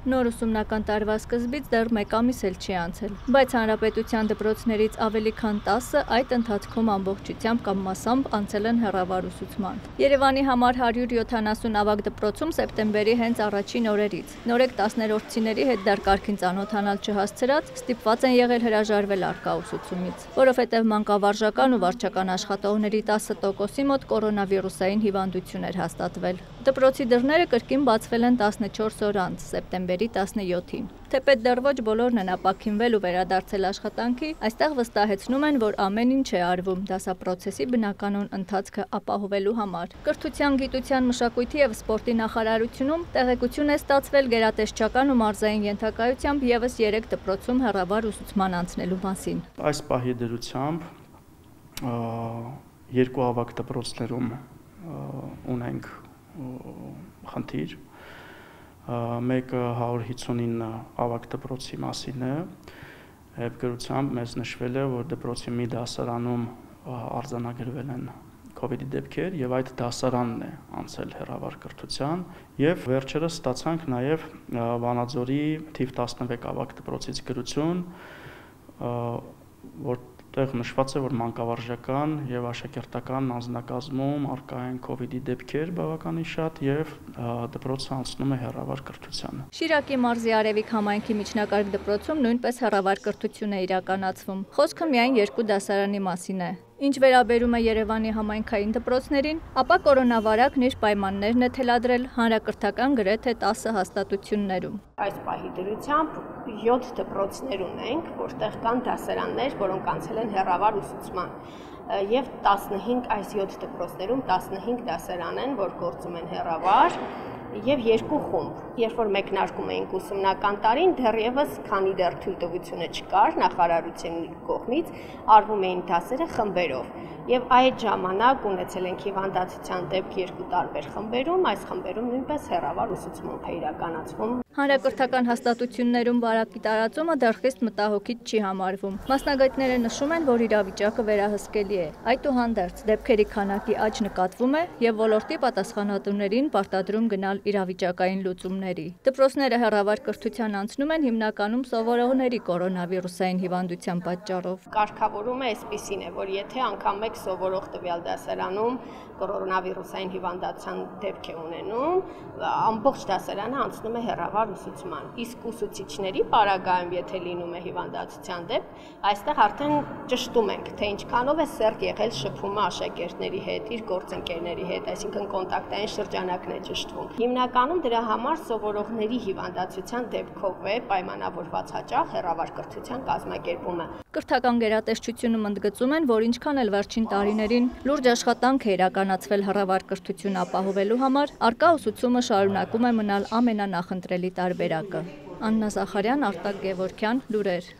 Նոր ուսումնական տարվա սկզբից դեռ 1 ամիս էլ չի անցել, բայց հանրապետության դպրոցներից ավելի քան 10-ը այդ ընթացքում ամբողջությամբ կամ մասամբ անցել են հեռավար ուսուցման։ Երևանի համար 170 ավագ դպրոցում սեպտեմբերի հենց առաջին օրերից նորեկ 10-րդցիների հետ դեռ կարգին ծանոթանալ չհասցրած ստիպված են եղել հրաժարվել առկա ուսուցումից, որովհետև մանկավարժական ու վարչական աշխատողների 10%-ի մոտ կորոնավիրուսային հիվանդություն էր հաստատվել։ Դպրոցի դռները կրկին բացվել են 14 օր անց, սեպտեմբերի 17-ին։ Թեպետ դեռ ոչ բոլորն են ապաքինվել ու վերադարձել աշխատանքի, այստեղ վստահեցնում են, որ ամեն ինչ է արվում դասապրոցեսի բնականոն ընթացքը ապահովելու համար։ Կրթության, գիտության, մշակույթի և սպորտի նախարարությունում տեղեկություն է ստացվել գերատեսչական ու մարզային ենթակայությամբ ևս 3 դպրոցում հեռավար ուսուցման անցնելու մասին։ Այս պահի դրությամբ 2 ավագ դպրոցներում ունենք խնդիր, մեկը 159 ավագ դպրոցի մասին է, եւ գրությամբ մեզ նշվել է, որ դպրոցի մի դասարանում արձանագրվել են COVID-ի դեպքեր եւ այդ դասարանն է անցել հեռավար կրթության եւ վերջերս ստացանք նաեւ Վանաձորի թիվ 11 ավագ դպրոցից գրություն, որտեղ նշված է, որ մանկավարժական եւ աշակերտական անձնակազմում առկա են COVID-ի դեպքեր բավականին շատ եւ դպրոցը անցնում է հեռավար կրթության։ Շիրակի մարզի Արևիկ համայնքի միջնակարգ դպրոցում նույնպես հեռավար կրթություն է իրականացվում։ Խոսքը միայն 2 դասարանի մասին է։ Ինչ վերաբերում է Երևանի համայնքային դպրոցներին, ապա կորոնավարակն իր պայմաններն է թելադրել հանրակրթական գրեթե 10 հաստատություններում։ Այս պահի դրությամբ 7 դպրոցներ ունենք, որտեղ կան դասարաններ, որոնք անցել են հեռավար ուսուցման, եւ 15 այս 7 դպրոցներում 15 դասարան են, որ գործում են հեռավար, եւ 2 խումբ։ Երբ որ մեկնարկում էինք ուսումնական տարին, դեռևս քանի դեռ թույլտվությունը չկար նախարարության կողմից, արվում էին դասերը խմբերով։ Եվ այդ ժամանակ ունեցել ենք հիվանդացության դեպք 2 տարբեր խմբերում, այս խմբերում նույնպես հեռավար ուսուցում է իրականացվում։ Հանրակրթական հաստատություններում վարակի տարածումը դեռ խիստ մտահոգիչ չի համարվում։ Մասնագետները նշում են, որ իրավիճակը վերահսկելի է։ Այդուհանդերձ դեպքերի քանակի աճ նկատվում է եւ ոլորտի պատասխանատուներին պարտադրում գնալ իրավիճակային լուծումների։ Դպրոցները հեռավար կրթության անցնում են հիմնականում սովորողների կորոնավիրուսային հիվանդության պատճառով։ Կարգավորումը այսպիսին է, որ եթե անգամ մեկ սովորող տվյալ դասարանում կորոնավիրուսային հիվանդության դեպք է ունենում, ամբողջ դասարանը անցնում է հեռավար ուսուցման։ Իսկ ուսուցիչների պարագայում, եթե լինում է հիվանդացության դեպք, այստեղ արդեն ճշտում ենք, թե ինչքանով է սերտ եղել շփումը աշակերտների հետ, իր գործընկերների հետ, այսինքն կոնտակտային շրջանակն է ճշտվում։ Հիմնականում դրա համար սովորողների հիվանդացության դեպքով է պայմանավորված հաճախ հեռավար կրթության կազմակերպումը։ Կրթական գերատեսչությունում ընդգծում են, որ ինչքան էլ վերջին տարիներին լուրջ աշխատանք է իրականացվել հեռավար կրթություն ապահովելու համար, առկա ուսուցումը շարունակում է մնալ ամենանախընտրելի տարբերակը։ Աննա Զախարյան, Արտակ Գևորգյան, լուրեր։